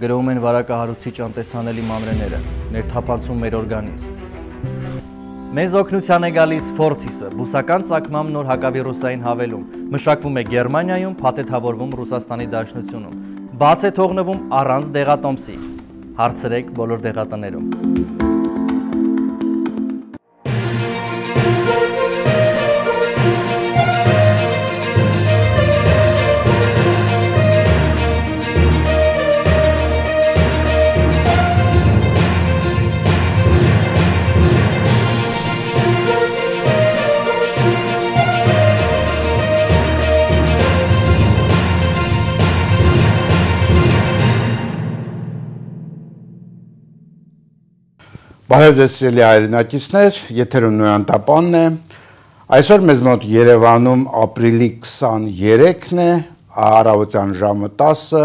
գրոհում են վարակահարուցիչ անտեսանելի մանրեները, ներթափանցում մեր օրգանիզմ։ Մեզ օգնության է գալիս Ֆորցիսը, բուսական ծագմամբ նոր հակավիրուսային հավելում, մշակվում է Գերմանիայում, փաթեթավորվում Ռուսաստանի Դաշնությունում, բաց է թողնվում առանց դեղատոմսի։ Հարցրեք բոլոր դեղատներում։ Բարև ձեզ սիրելի հայրենակիցներ, եթերում Նոյան Տապանն է։ Այսօր մեզ մոտ Երևանում ապրիլի 23-ն է, առավոտյան ժամը 10-ը,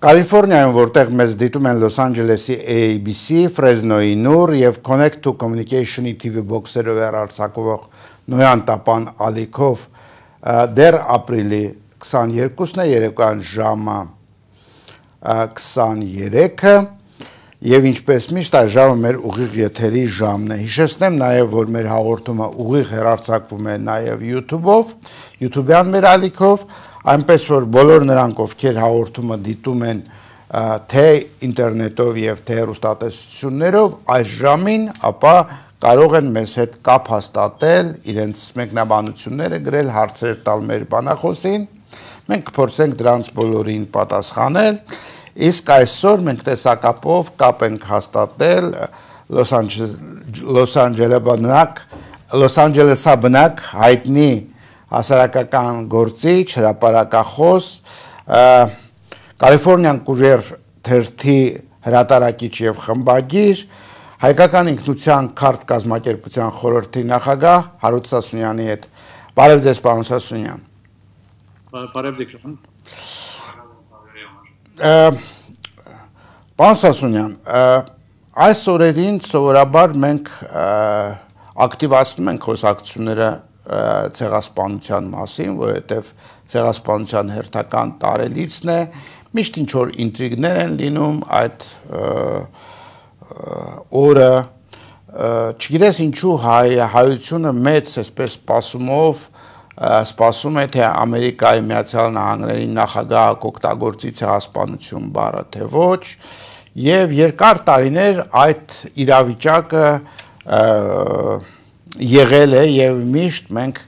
Կալիֆորնիայում, որտեղ մեզ դիտում են Լոս Անջելեսի ABC, Ֆրեզնոյի Նուր եւ Connect to Communication-ի TV բոքսերով արձակվող Նոյան Տապան ալիքով դեռ ապրիլի 22-ն է, երեկոյան ժամը 23-ը Եվ ինչպես միշտ այս ժամը մեր ուղիղ եթերի ժամն է։ Հիշեցնեմ նաև, որ մեր հաղորդումը ուղիղ հեռարձակվում է նաև YouTube-ով, YouTube-յան մեր ալիքով, այնպես որ բոլոր նրանք, ովքեր հաղորդումը դիտում են թե ինտերնետով եւ թե հեռուստատեսություններով, այս ժամին, ապա կարող են մեզ հետ կապ հաստատել, իրենց մեկնաբանությունները գրել, հարցեր տալ մեր բանախոսին։ Մենք կփորձենք դրանց բոլորին պատասխանել։ Իսկ այսօր մենք տեսակապով կապ ենք հաստատել Լոս Անջելեսաբնակ հայտնի հասարակական գործիչ, հրապարակախոս, Կալիֆորնիան Կուրիեր թերթի հրատարակիչ եւ խմբագիր, հայկական ինքնության քարտ կազմակերպության խորհրդի նախագահ Հարութ Սասունյանի հետ։ Բարև ձեզ, պարոն Սասունյան։ Բարև դիքրոն։ Պարոն Սասունյան, այս օրերին սովորաբար մենք ակտիվացնում ենք խոսակցությունները ցեղասպանության մասին, որովհետև ցեղասպանության հերթական տարելիցն է, միշտ ինչ-որ ինտրիգներ են լինում այդ օրը, չգիտես ինչու հայությունը մեծ այսպես սպասում է, թե Ամերիկայի Միացյալ Նահանգների նախագահը կօգտագործի ցեղասպանություն բառը, թե ոչ, եւ երկար տարիներ այդ իրավիճակը եղել է եւ միշտ մենք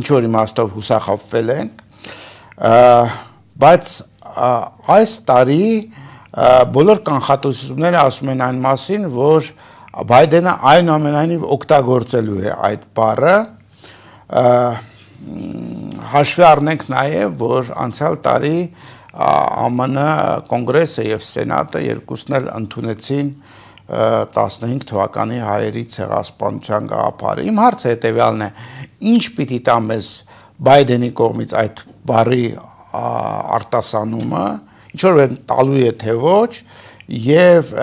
ինչ-որ իմաստով հուսախաբվել ենք, բայց այս տարի բոլոր կանխատեսումները ասում են այն մասին, որ Բայդենը այնուամենայնիվ օգտագործելու է այդ բառը, հաշվի առնենք նաև, որ անցյալ տարի ԱՄՆ կոնգրեսը եւ սենատը երկուսն էլ ընդունեցին 15 թվականի հայերի ցեղասպանության գաղափարը։ Իմ հարցը հետեւյալն է. ինչ պիտի տա մեզ Բայդենի կողմից այդ բառի արտասանումը, ինչ որ տալու է թե ոչ, եւ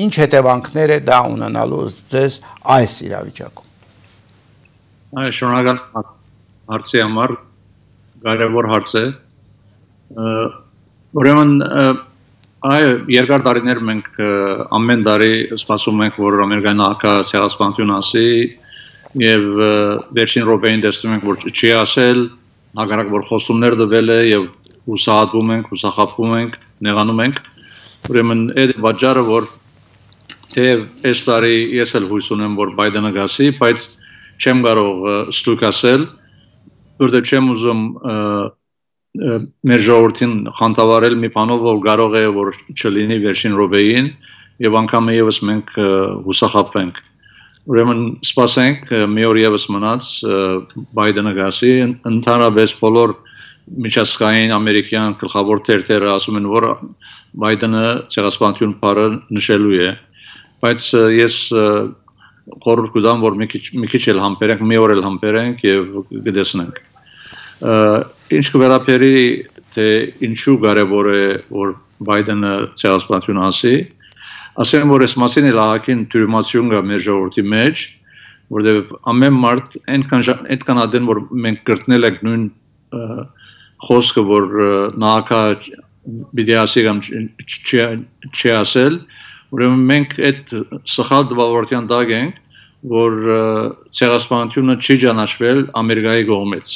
ինչ հետևանքներ է դա ունենալու ձեզ այս իրավիճակում։ Շնորհակալ հարցի համար, կարևոր հարց է։ Ուրեմն երկար տարիներ մենք ամեն տարի սպասում ենք, որ Ամերիկայի նախագահը ցեղասպանություն ասի եւ վերջին րոպեին տեսնում ենք, որ չի ասել, հակառակ որ խոստումներ տվել է եւ հուսահատվում ենք, հուսախաբվում ենք, նեղանում ենք։ Ուրեմն այդ պատճառը, որ թեև այս տարի ես էլ հույս ունեմ, որ Բայդենը գասի, բայց չեմ կարող ստույգ ասել, որտեղ չեմ ուզում մեր ժողովրդին խանդավառել մի բանով, որ կարող է որ չլինի վերջին րոպեին եւ անգամ եւս մենք հուսախաբվենք։ Ուրեմն սպասենք մի օր եւս մնաց Բայդենը գասի, ընդհանրապես բոլոր միջազգային ամերիկյան գլխավոր թերթերը ասում են, որ Բայդենը ցեղասպանություն բառը նշելու է, բայց ես խորհուրդ կտամ, որ մի քիչ էլ համբերենք, մի օր էլ համբերենք եւ կտեսնենք։ Ինչ կվերապերի, թե ինչու կարևոր է, որ Բայդենը ցեղասպանություն ասի, ասեմ, որ այս մասին էլ ահագին թյուրիմացություն կա մեր ժողովրդի մեջ, որտեղ ամեն մարդ այնքան ադեն, որ մենք կրտնել ենք նույն խոսքը, որ նախագահը պիտի ասի կամ չի ասել, ուրեմն մենք այդ սխալ դվավորության տակ ենք, որ ցեղասպանությունը չի ճանաչվել Ամերիկայի կողմից։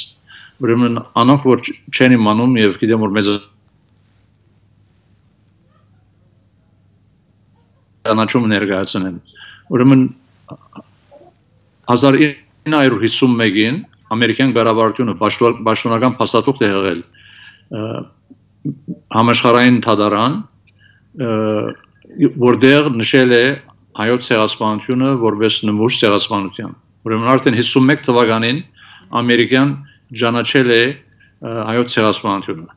Ուրեմն անոնք որ չեն իմանում եւ գիտեմ որ մեզ ճանաչում ներկայացնեն։ Ուրեմն 1951-ին ամերիկյան կառավարությունը պաշտոնական փաստաթուղթ է եղել համաշխարհային թադարան, որտեղ նշել է հայոց ցեղասպանությունը որպես նմուշ ցեղասպանության։ Ուրեմն արդեն 51 թվականին ամերիկան ճանաչել է հայոց ցեղասպանությունը։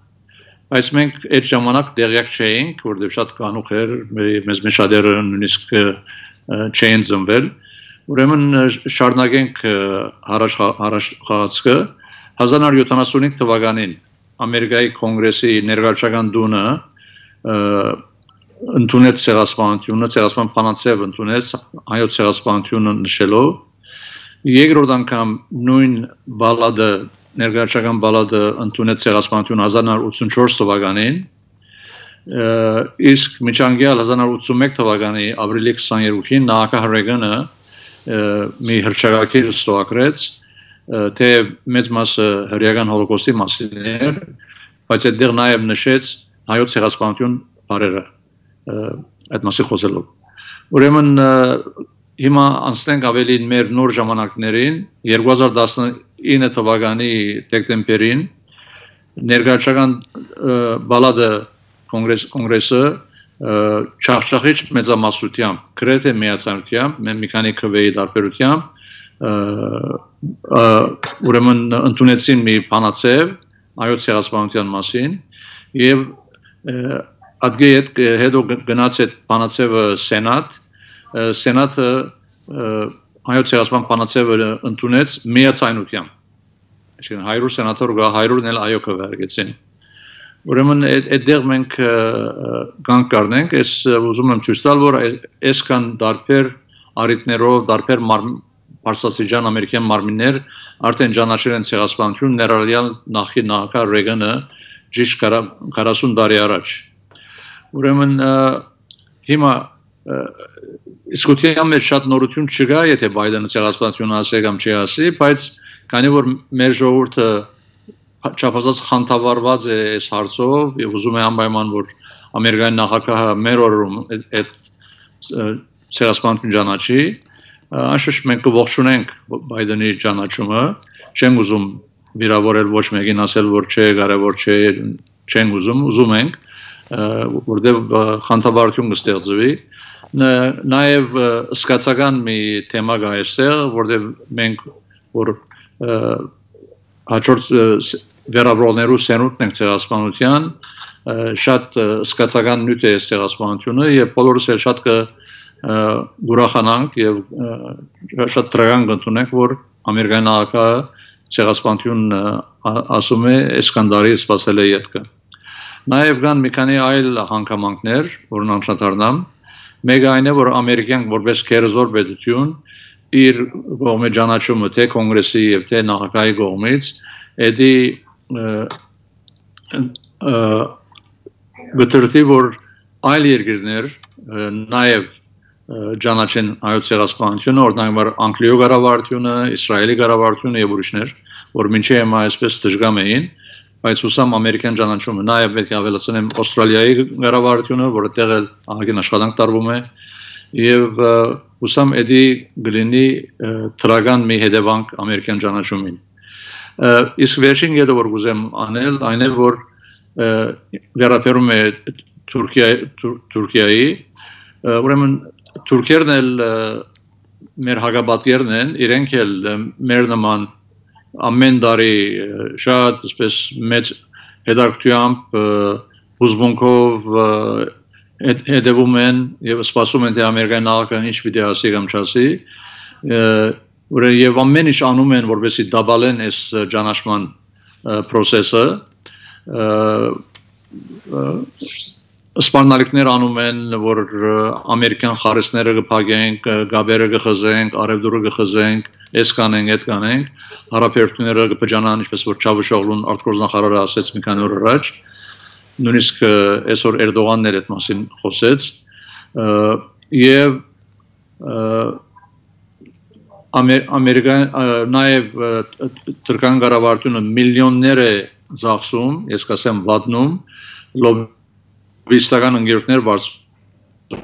Բայց մենք այդ ժամանակ տեղյակ չէինք, որտեղ շատ կանուխ էր, մեզ շատերը նույնիսկ չէին ծնվել։ Ուրեմն շարունակենք առաջ խաղացքը 1975 թվականին Ամերիկայի կոնգրեսի ներկայացական դունը ընդունեց ցեղասպանությունը, ցեղասպան փանացև ընդունեց հայոց ցեղասպանությունը նշելով։ Երկրորդ անգամ նույն բալադը ներկայացական բալադը ընդունեց ցեղասպանությունը 1984 թվականին, իսկ միջանկյալ 1981 թվականի ապրիլի 22-ին նախագահ Ռեգանը մի հռչակագիր ստորագրեց, թե մեծ մասը հրեական հոլոկոստի մասին էր, բայց այդտեղ նաև նշեց հայոց ցեղասպանություն բարերը այդ մասի խոսելով։ Ուրեմն հիմա անցնենք ավելի մեր նոր ժամանակներին 2019 թվականի դեկտեմբերին ներկայացական բալադը կոնգրեսը չախշախիչ մեծամասնությամբ գրեթե միացանությամբ մի քանի քվեի տարբերությամբ ուրեմն ընդունեցին մի բանացև հայոց ցեղասպանության մասին եւ ադգե հետո գնաց այդ բանացևը սենատը հայոց ցեղասպան բանացևը ընդունեց միացայնությամբ, այսինքն 100 սենատոր գա 100-ն էլ այո քվեարկեցին։ Ուրեմն այդտեղ մենք կանգ կառնենք, ես ուզում եմ ցույց տալ, որ այսքան դարբեր առիթներով, դարբեր Պարսասիջան ամերիկյան մարմիններ արդեն ճանաչել են ցեղասպանություն ներառյալ նախկին նախագահ Ռեգանը ճիշտ 40 տարի առաջ։ Ուրեմն հիմա իսկության մեջ շատ նորություն չկա, եթե Բայդենը ցեղասպանություն ասի կամ չի ասի, բայց քանի որ մեր ժողովուրդը չափազանց խանդավառված է այս հարցով եւ ուզում է անպայման որ ամերիկայի նախագահը մեր օրում այդ ցեղասպանություն ճանաչի, անշուշտ մենք կողջունենք Բայդենի ճանաչումը, չենք ուզում վիրավորել ոչ մեկին ասել որ չէ, կարևոր չէ, չենք ուզում ենք, որտեղ խանդավառություն կստեղծվի։ Նաև սկացական մի թեմա կա այստեղ, որտեղ մենք որ հաջորդ վերաբրողներու սենունդն ենք ցեղասպանության, շատ սկացական նյութ է ցեղասպանությունը եւ բոլորս էլ շատ ուրախանանք եւ շատ դրական կընդունենք, որ ամերիկյան նախագահը ցեղասպանություն ասում է Էսկանդարի սպասել է յետքը։ Նաև կան մի քանի այլ հանգամանքներ, որն անդրադառնամ։ Մեկը այն է, որ ամերիկյան որպես գերզոր պետություն իր կողմի ճանաչումը թե կոնգրեսի եւ թե նախագահի կողմից էդի գտրտի որ այլ երկրներ նաև ճանաչեն հայոց ցեղասպանությունը, օրինակ Անգլիայի կառավարությունը, Իսրայելի կառավարությունը եւ ուրիշներ, որ մինչեւ հիմա այսպես դժգամ էին, բայց ուսամ ամերիկյան ճանաչումը նաև պետք է ավելացնեմ Ավստրալիայի կառավարությունը, որը տեղել ահագին աշխատանք տարվում է եւ ուսամ էդի գլինի թրագան մի հետևանք ամերիկյան ճանաչումին։ Իսկ վերջին գետը որ կուզեմ անել, այն է որ վերաբերում է Թուրքիայի, ուրեմն թուրքերն էլ մեր հակաբատերն են, իրենք էլ մեր նման ամեն տարի շատ այսպես մեծ հետաքրքրությամբ հուզմունքով հետևում են եւ սպասում են թե ամերիկայի նախագահը ինչ պիտի ասի կամ չասի, եւ ամեն ինչ անում են որպեսզի դաբալեն այս ճանաչման process-ը, սպառնալիքներ անում են, որ ամերիկյան խարիսները կփակենք, գաբերը կխզենք, արևդուրը կխզենք, այս կանենք, այդ կանենք, հարաբերությունները կբջանան, ինչպես որ Չավուշօղլուն արտգործնախարարը ասեց մի քանի օր առաջ, նույնիսկ այսօր Էրդողանն էր այդ մասին խոսեց եւ Ամերիկան նաեւ Թուրքական կառավարությունը միլիոններ է ծախսում, ես կասեմ վատնում լոբիստական ընկերություններ բարձրանում,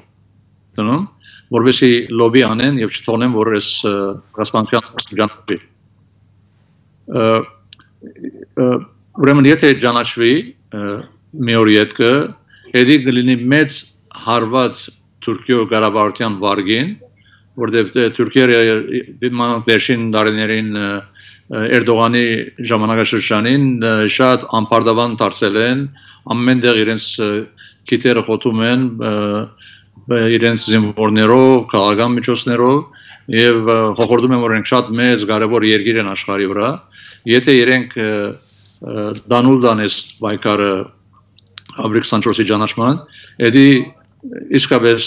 որովհետեւ լոբի անեն եւ չթողնեն, որ այս ռազմական շրջանառվի։ Ուրեմն եթե ճանաչվի մի օր յետքը, հետի կլինի մեծ հարված Թուրքիո կառավարության վարգին, որտեղ Թուրքիա վերջին տարիներին Էրդողանի ժամանակաշրջանին շատ անպարտավան դարձել են, ամենտեղ իրենց քիթերը խոթում են իրենց զինվորներով, քաղաքական միջոցներով եւ հորդորում են, որ իրենք շատ մեծ կարևոր երկիր են աշխարհի վրա, եթե իրենք դանուլ դանես բայկարը ապրիլ 24-ի ճանաչման, էդի իսկապես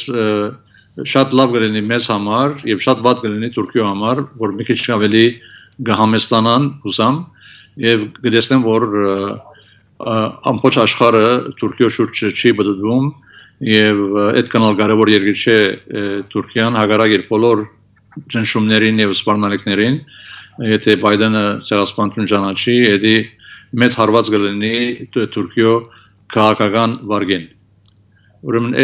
շատ լավ կլինի մեզ համար եւ շատ վատ կլինի Թուրքիո համար, որ մի քիչ ավելի կհամեստանան հուսամ եւ կտեսնեն, որ ամբողջ աշխարհը Թուրքիո շուրջ չի բդդվում եւ այդ կանալ կարևոր երկիր չէ Թուրքիան հակառակ իր բոլոր ճնշումներին եւ սպառնալիքներին, եթե Բայդենը ցեղասպանություն ճանաչի, էդի մեծ հարված կլինի Թուրքիո քաղաքական վարգին։ Ուրեմն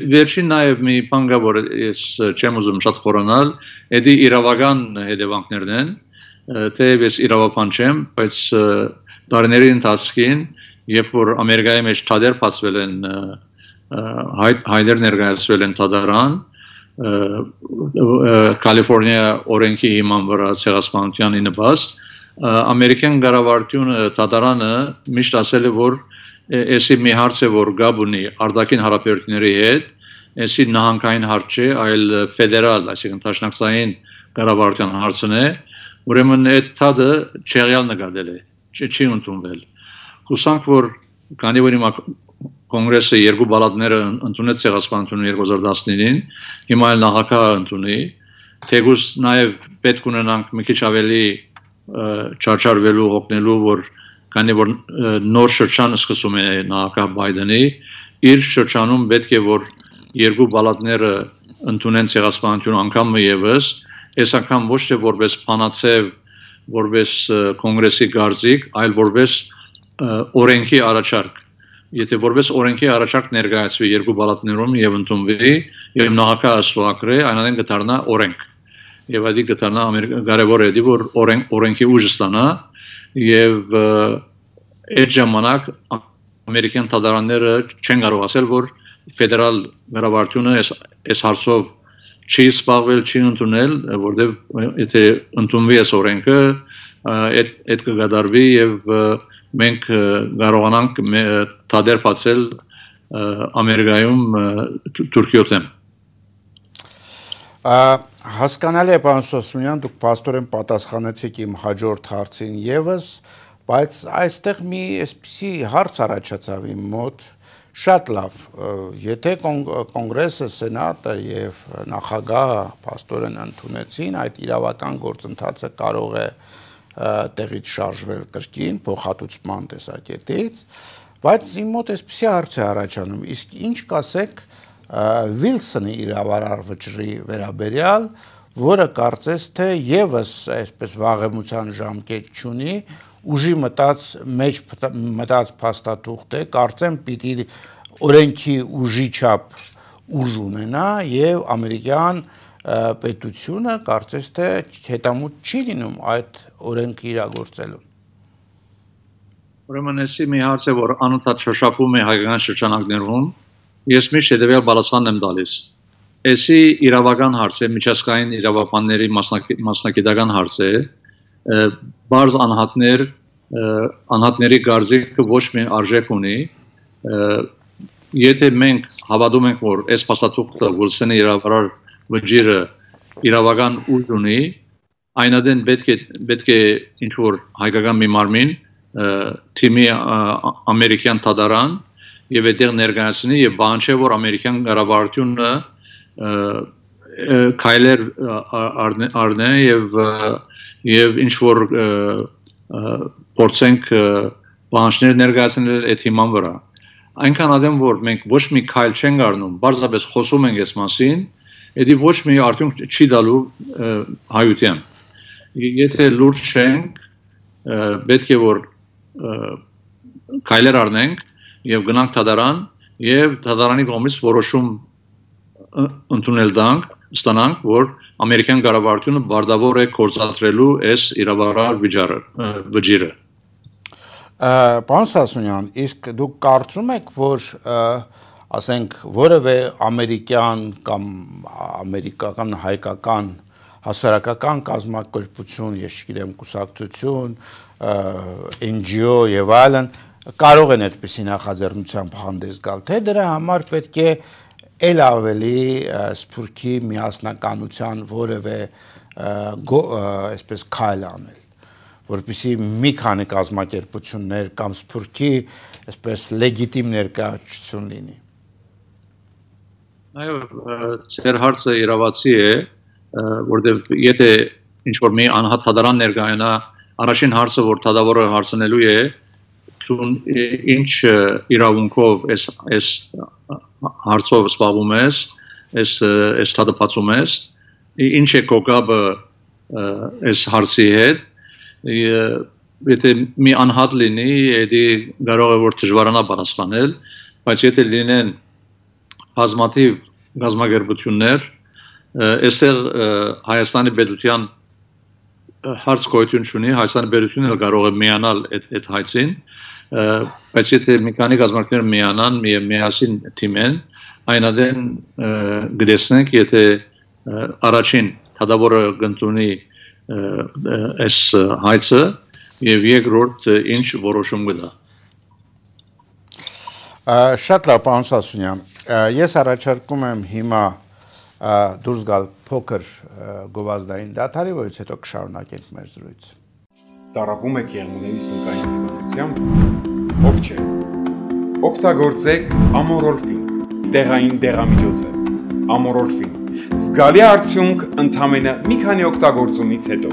վերջին նաև մի բան կա, որ ես չեմ ուզում շատ խորանալ, էդի իրավական հետևանքներն են, թեև ես իրավապան չեմ, բայց տարիների ընթացքին, երբ որ Ամերիկայի մեջ թադեր բացվել են, հայտեր ներկայացվել են թադարան, Կալիֆոռնիա օրենքի հիման վրա ցեղասպանության նպաստ, ամերիկյան կառավարությունը թադարանը միշտ ասել է, որ Էսի մի հարց է, որ գաբ ունի արտաքին հարաբերությունների հետ, էսի նահանգային հարց չէ, այլ ֆեդերալ, այսինքն դաշնակցային կառավարության հարցն է, ուրեմն այդ թադը չեղյալ նկատել է, չի ընդունվել։ Հուսանք, որ քանի որ հիմա կոնգրեսը երկու բալատները ընդունեց ցեղասպանությունը 2019-ին, հիմա էլ նախագահը ընդունի, թեկուզ նաև պետք ունենանք մի քիչ ավելի չարչարվելու, հոգնելու, որ քանի որ նոր շրջան սկսում է նախագահ Բայդենի, իր շրջանում պետք է որ երկու բալատները ընդունեն ցեղասպանություն անգամ եւս, այս անգամ ոչ թե որպես փանացև, որպես կոնգրեսի գարզիկ, այլ որպես օրենքի առաջարկ։ Եթե որպես օրենքի առաջարկ ներկայացվի երկու բալատներում եւ ընդունվի եւ նախագահը ստուգրի, այնանեն կդառնա օրենք։ Եվ այդ կդառնա կարևոր է, որ օրենքի ուժ ստանա եւ այդ ժամանակ ամերիկյան թադարանները չեն կարող ասել, որ ֆեդերալ կառավարությունը այս հարցով չի սպառվել, չի ընդունել, որտեղ եթե ընդունվի այս օրենքը, այդ կգադարվի եւ մենք կարողանանք թադեր բացել Ամերիկայում Թուրքիո դեմ։ Հասկանալի է, պարոն Սոսունյան, դուք փաստորեն պատասխանեցիք իմ հաջորդ հարցին եւս, բայց այստեղ մի այսպիսի հարց առաջացավ իմ մոտ, շատ լավ, եթե կոնգրեսը, սենատը եւ նախագահը փաստորեն ընդունեցին, այդ իրավական գործընթացը կարող է տեղից շարժվել կրկին փոխհատուցման տեսակետից, բայց իմ մոտ այսպիսի հարց է առաջանում, իսկ ինչ կասեք Վիլսոնի իրավարար վճռի վերաբերյալ, որը կարծես թե եւս այսպես վաղեմության ժամկետ չունի, ուժի մտած փաստաթուղթ է, կարծեմ պիտի օրենքի ուժի չափ ուժ ունենա եւ ամերիկյան պետությունը կարծես թե հետամուտ չի լինում այդ օրենքը իրագործելու։ Ուրեմն էսի մի հարց է, որ անընդհատ շոշափում է հայկական շրջանակներում, ես միշտ հետևյալ պատասխանն եմ տալիս։ Էսի իրավական հարց է, միջազգային իրավաբանների մասնագիտական հարց է, բարձ անհատների գարզիկը ոչ մի արժեք ունի, եթե մենք հավատում ենք, որ այս փաստաթուղթը Վիլսոնի իրավարար վճիռը իրավական ուժ ունի, այնադեն պետք է ինչ-որ հայկական մի մարմին թիմի ամերիկյան թադարան եւ այդտեղ ներկայացնի եւ բանջե, որ ամերիկյան կառավարությունը քայլեր առնե եւ ինչ որ փորձենք պահանջներ ներկայացնել այդ հիման վրա։ Այնքան ադեմ որ մենք ոչ մի քայլ չենք առնում, բարձրապես խոսում ենք այս մասին, դա ոչ մի արդյունք չի տալու հայության։ Եթե լուրջ չենք, պետք է որ քայլեր առնենք եւ գնանք դատարան եւ դատարանի կողմից որոշում ընդունել ստանանք, որ ամերիկյան կառավարությունը բարդավոր է կործատրելու այս իրավարար վճիռը։ Պարոն Սասունյան, իսկ դուք կարծում եք, որ ասենք որևէ ամերիկյան կամ ամերիկական հայկական հասարակական կազմակերպություն, ես չգիտեմ, կուսակցություն, NGO եւ այլն կարող են այդպիսի նախաձեռնությամբ հանդես գալ, թե դրա համար պետք է ել ավելի սփյուռքի միասնականության որևէ այսպես քայլ անել, որպեսզի մի քանի կազմակերպություններ կամ սփյուռքի այսպես լեգիտիմ ներկայացություն լինի։ Այո, ձեր հարցը իրավացի է, որտեղ եթե ինչ-որ մի անհատ դատարան ներկայանա, առաջին հարցը, որ դատավորը հարցնելու է, դու ինչ իրավունքով այս հարցով զբաղվում ես, այս դատապացում ես, ինչ է կապը այս հարցի հետ, եթե մի անհատ լինի, դա կարող է որ դժվարանա պատասխանել, բայց եթե լինեն բազմաթիվ կազմակերպություններ, այստեղ Հայաստանի պետության հարց գոյություն չունի, Հայաստանի պետությունը կարող է միանալ այդ հայցին, բայց եթե մի քանի կազմակերպություններ միանան, միասին թիմեն, այնադեն գտեսնենք, եթե առաջին դատավորը կընդունի այս հայցը եւ երկրորդ ինչ որոշում կտա։ Շատ լավ, պարոն Սասունյան, ես առաջարկում եմ հիմա դուրս գալ փոքր գովազդային դադարի, որից հետո կշարունակենք մեր զրույցը։ Տառապում եք եղունգների սնկային հիվանդությամբ, ոգ չէ։ Օգտագործեք ամորոլֆին, տեղային դեղամիջոց է, ամորոլֆին։ Զգալի արդյունք ընդամենը մի քանի օգտագործումից հետո։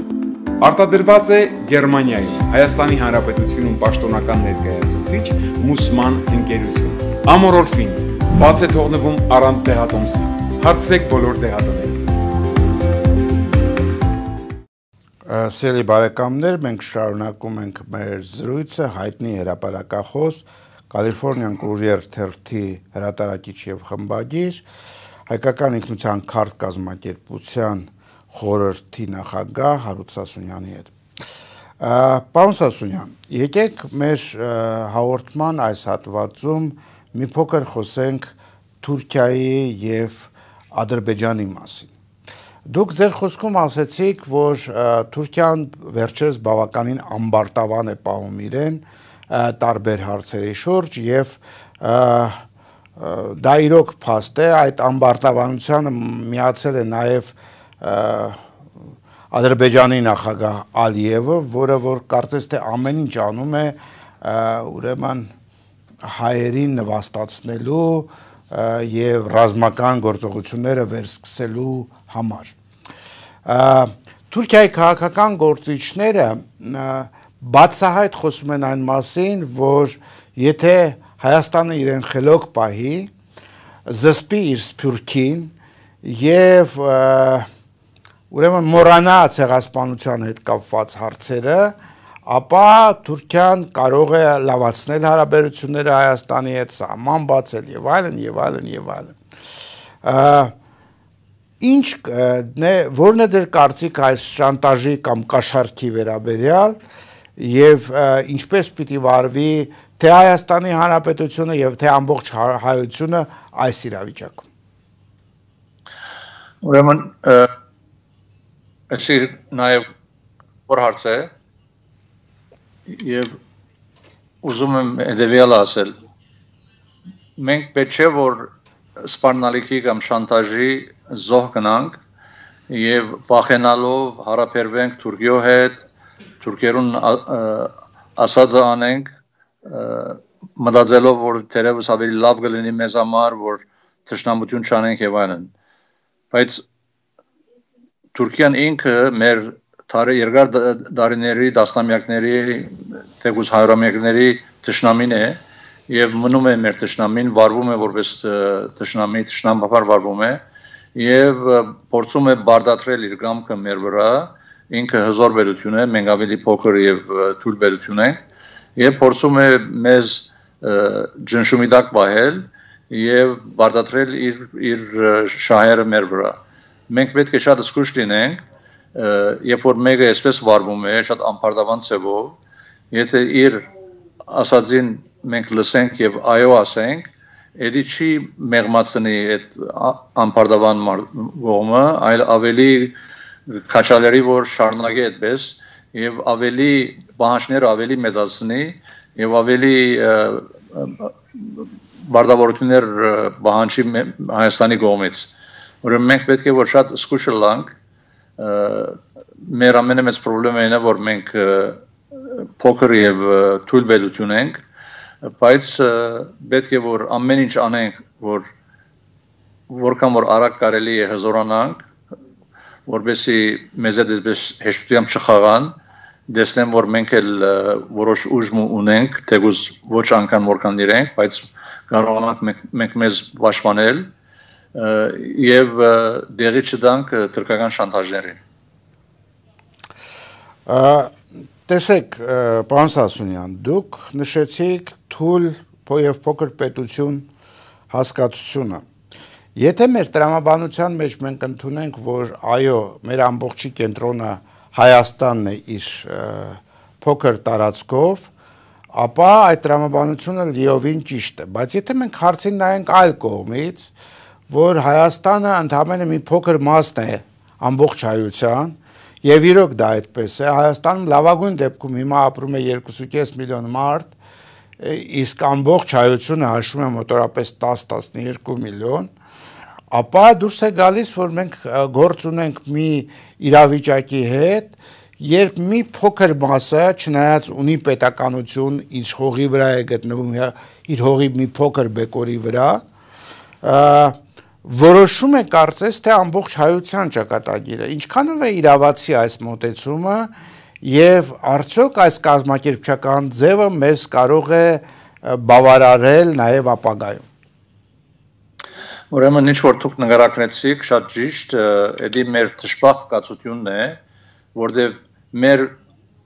Արտադրված է Գերմանիայում, Հայաստանի Հանրապետությունում պաշտոնական ներկայացուցիչ Մուսման ընկերություն։ Ամորոլֆին բաց է թողնվում առանց դեղատոմսի։ Հարցրեք բոլոր դեղատներին։ Սիրելի բարեկամներ, մենք շարունակում ենք մեր զրույցը հայտնի հրապարակախոս Կալիֆոռնիան Courier թերթի հրատարակիչ եւ խմբագիր հայկական ինքնության քարտ կազմակերպության խորհրդի նախագահ Հարութ Սասունյանի հետ։ Պարոն Սասունյան, եկեք մեր հաղորդման այս հատվածում մի փոքր խոսենք Թուրքիայի եւ Ադրբեջանի մասին։ Դուք ձեր խոսքում ասացիք, որ Թուրքիան վերջերս բավականին ամբարտավան է պահում իրեն տարբեր հարցերի շուրջ եւ դա իրոք փաստ է, այդ ամբարտավանությանը միացել է նաեւ Ադրբեջանի նախագահ Ալիևը, որը որ կարծես թե ամեն ինչ անում է ուրեմն հայերին նվաստացնելու եւ ռազմական գործողությունները վերսկսելու համար։ Թուրքիայի քաղաքական գործիչները բացահայտ խոսում են այն մասին, որ եթե Հայաստանը իրեն խելոք պահի, զսպի իր սփյուռքին եւ ուրեմն մոռանա ցեղասպանության հետ կապված հարցերը, ապա Թուրքիան կարող է լավացնել հարաբերությունները Հայաստանի հետ, սահման բացել եւ այլն եւ այլն եւ այլն։ Ինչ որն է ձեր կարծիք այս շանտաժի կամ կաշառքի վերաբերյալ եւ ինչպես պիտի վարվի թե Հայաստանի Հանրապետությունը եւ թե ամբողջ հայությունը այս իրավիճակում։ Ուրեմն այսի նաեւ որ հարց է եւ ուզում եմ հետեւյալը ասել։ Մենք պետք չէ որ սպառնալիքի կամ շանտաժի զոհ գնանք եւ վախենալով հարաբերվենք Թուրքիո հետ, թուրքերուն ասածը անենք մտածելով որ թերևս ավելի լավ կլինի մեզ համար, որ թշնամություն չանենք եւ այլն։ Բայց Թուրքիան ինքը մեր երկար դարիների, տասնամյակների թեկուզ հարյուրամյակների թշնամին է եւ մնում է մեր թշնամին, վարվում է որպես թշնամի, թշնամաբար վարվում է եւ փորձում է բարդատրել իր գամքը մեր վրա, ինքը հզոր բերություն է, մենք ավելի փոքր եւ թույլ բերություն ենք եւ փորձում է մեզ ջնշումի տակ պահել եւ բարդատրել իր շահերը մեր վրա։ Մենք պետք է շատ զգուշ լինենք, երբ որ մեկը այսպես վարվում է, շատ անպարտավան ձևով, եթե իր ասածին մենք լսենք եւ այո ասենք, դա չի մեղմացնի այդ անպարտավան կողմը, այլ ավելի քաչալերի որ շարունակի այդպես եւ ավելի բանջները ավելի մեծացնի եւ ավելի բարդավորություններ բանջի Հայաստանի կողմից։ Ուրեմն մենք պետք է որ շատ զգուշ լինենք, մեր ամենամեծ խնդիրը այն է, որ մենք փոքր եւ թույլ բերություն ենք, բայց պետք է որ ամեն ինչ անենք, որքան որ արագ կարելի է հզորանանք, որովհետեւ մեզ այդպես հեշտությամբ չխաղան, դեսնեմ որ մենք էլ որոշ ուժ ունենք, թեկուզ ոչ անգամ որքան իրենք, բայց կարողանանք մենք մեզ պաշտպանել եւ դեղի չտանք թրքական շանտաժներին։ Տեսեք, պարոն Սասունյան, դուք նշեցիք թույլ եւ փոքր պետություն հասկացությունը։ Եթե մեր տրամաբանության մեջ մենք ընդունենք, որ այո, մեր ամբողջի կենտրոնը Հայաստանն է իր փոքր տարածքով, ապա այդ տրամաբանությունը լիովին ճիշտ է, բայց եթե մենք հարցին նայենք այլ կողմից, որ Հայաստանը ընդամենը մի փոքր մասն է ամբողջ հայության, եւ իրոք դա այդպես է, Հայաստանում լավագույն դեպքում հիմա ապրում է 2.5 միլիոն մարդ, իսկ ամբողջ հայությունը հաշվում է մոտավորապես 10-12 միլիոն, ապա դուրս է գալիս, որ մենք գործ ունենք մի իրավիճակի հետ, երբ մի փոքր մասը, չնայած ունի պետականություն, իր հողի վրա է գտնվում, իր հողի մի փոքր բեկորի վրա, որոշում է կարծես թե ամբողջ հայության ճակատագիրը, ինչքանով է իրավացի այս մոտեցումը եւ արդյոք այս կազմակերպչական ձևը մեզ կարող է բավարարել նաեւ ապագայում։ Ուրեմն ինչ որ դուք նկարագրեցիք, շատ ճիշտ, դա մեր դժբախտ կացությունն է, որտեղ մեր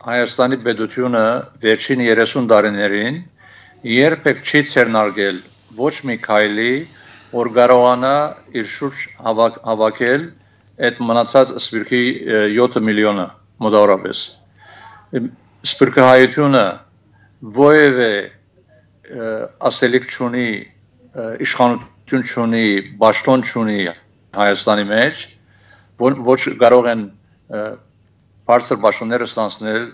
Հայաստանի պետությունը վերջին 30 տարիներին երբեք չի ցերնարգել ոչ մի քայլի, որ կարողանա իր շուրջ հավաքել այդ մնացած սպիրկի 7 միլիոնը մոտավորապես։ Սպիրկահայությունը որևէ ասելիք չունի, իշխանություն չունի, պաշտոն չունի Հայաստանի մեջ, ոչ կարող են բարձր պաշտոնները ստանձնել,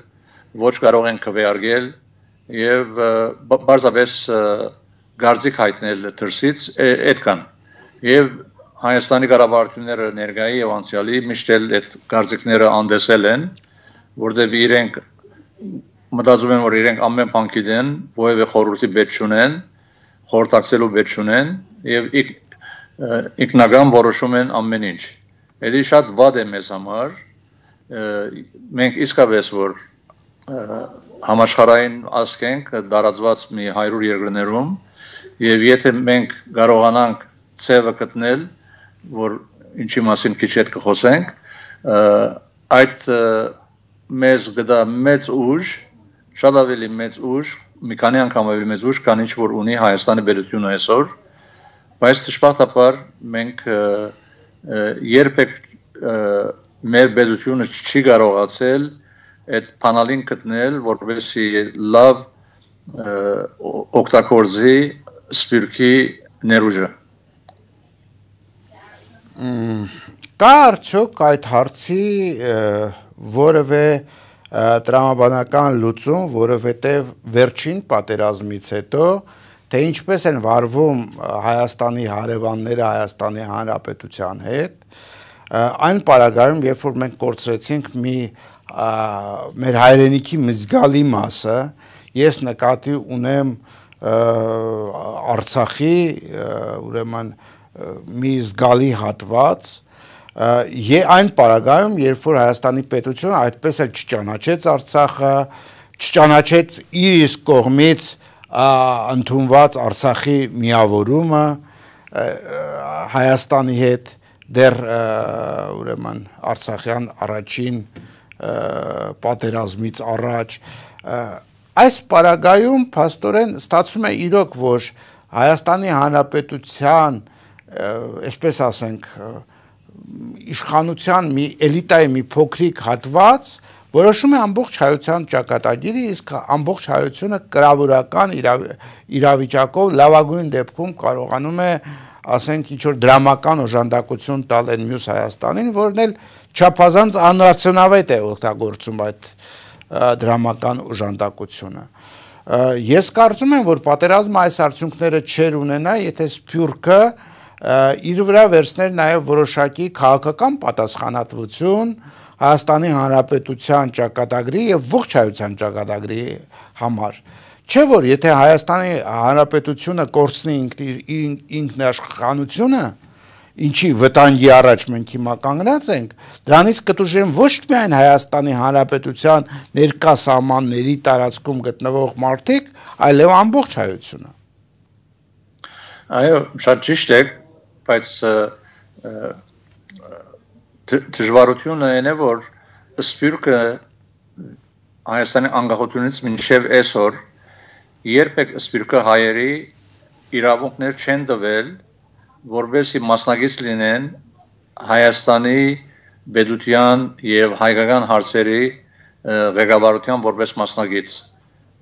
ոչ կարող են քվեարկել եւ բարձրապես գարձիկ հայտնել դրսից այդքան։ Եվ Հայաստանի կառավարությունները ներկայի եւ անցյալի միշտ այդ գարձիկները անդեսել են, որտեղ իրենք մտածում են, որ իրենք ամեն բան գիտեն, որևէ խորհրդի պետք չունեն, խորհրդակցելու պետք չունեն եւ ինքնական որոշում են ամեն ինչ։ Դա շատ վատ է մեզ համար։ Մենք իսկապես որ համաշխարհային ազգ ենք դարածված մի 100 երկրներում եւ եթե մենք կարողանանք ցևը գտնել, որ ինչի մասին քիչ հետ կխոսենք, այդ մեզ գտա մեծ ուժ, շատ ավելի մեծ ուժ, մի քանի անգամ ավելի մեծ ուժ, քան ինչ որ ունի Հայաստանի պետությունը այսօր, բայց դժբախտաբար մենք երբեք մեր պետությունը չի կարողացել այդ բանալին գտնել, որպեսզի լավ օգտագործի սպիրկի ներուժը։ Կա արդյոք այդ հարցի որևէ տրամաբանական լուծում, որովհետև վերջին պատերազմից հետո, թե ինչպես են վարվում Հայաստանի հարևանները Հայաստանի Հանրապետության հետ, այն պարագայում, երբ որ մենք կորցրեցինք մեր հայրենիքի մի զգալի մասը, ես նկատի ունեմ Արցախի ուրեմն մի զգալի հատված, այն պարագայում, երբ որ Հայաստանի պետությունը այդպես էլ չճանաչեց Արցախը, չճանաչեց իր իսկ կողմից ընդունված Արցախի միավորումը Հայաստանի հետ դեռ ուրեմն Արցախյան առաջին պատերազմից առաջ այս պարագայում փաստորեն ստացվում է իրոք, որ Հայաստանի Հանրապետության, այսպես ասենք, իշխանության մի էլիտայի մի փոքրիկ հատված որոշում է ամբողջ հայության ճակատագիրը, իսկ ամբողջ հայությունը կրավորական իրավիճակով լավագույն դեպքում կարողանում է, ասենք, ինչ-որ դրամական օժանդակություն տալ այն մյուս Հայաստանին, որն էլ չափազանց անարդյունավետ է օգտագործում այդ դրամական օժանդակությունը։ Ես կարծում եմ, որ պատերազմը այս արդյունքները չեր ունենա, եթե Սփյուռքը իր վրա վերցներ նաև որոշակի քաղաքական պատասխանատվություն Հայաստանի Հանրապետության ճակատագրի եւ ողջ հայության ճակատագրի համար։ Չէ՞ որ եթե Հայաստանի Հանրապետությունը կորցնի ինքնաշխանությունը, ինչի վտանգի առաջ մենք հիմա կանգնած ենք, դրանից կտուժեն ոչ միայն Հայաստանի Հանրապետության ներկա սահմանների տարածքում գտնվող մարդիկ, այլև ամբողջ հայությունը։ Այո, շատ ճիշտ է, բայց դժվարությունը այն է, որ Սփյուռքը Հայաստանի անկախությունից մինչև այսօր երբեք Սփյուռքը հայերի իրավունքներ չեն տվել, որովհետեւ մասնագետ լինեն Հայաստանի պետության եւ հայկական հարցերի ղեկավարության որպես մասնագետ։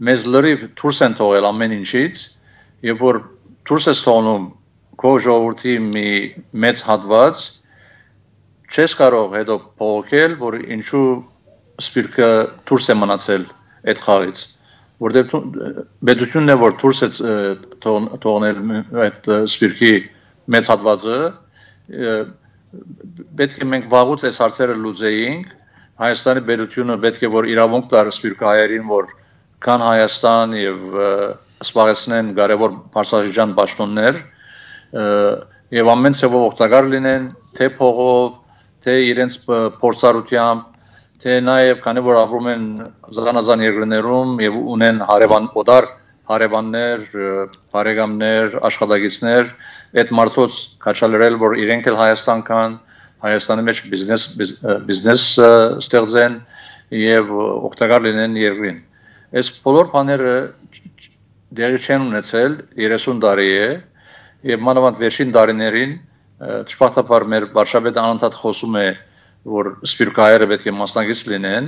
Մեզ լրիվ դուրս են թողել ամեն ինչից, եւ որ դուրս է թողնում քո ժողովրդի մի մեծ հատված, չես կարող հետո փոխել, որ ինչու Սփյուռքը դուրս է մնացել այդ խաղից, որովհետեւ պետությունն է որ դուրս է թողնել այդ Սփյուռքի մեծ հատվածը, պետք է մենք վաղուց այս հարցերը լուծեինք, Հայաստանի պետությունը պետք է որ իրավունք տար Սփյուռքի հայերին, որ կան Հայաստան եւ սպառեցնեն կարևոր բարձրաշրջան պաշտոններ եւ ամեն ցավով օգտակար լինեն, թե փողով, թե իրենց փորձառությամբ, թե նաեւ քանի որ ապրում են զանազան երկրներում եւ ունեն օտար հարևաններ, բարեկամներ, աշխատակիցներ, այդ մարդոց կաչալրել, որ իրենք էլ Հայաստան կան, Հայաստանի մեջ բիզնես ստեղծեն եւ օգտակար լինեն երկրին։ Այս բոլոր բաները դեղի չեն ունեցել 30 տարի է եւ մանավանդ վերջին տարիներին ճշմարտաբար մեր վարչապետը անընդհատ խոսում է, որ Սփյուռքահայերը պետք է մասնագետ լինեն,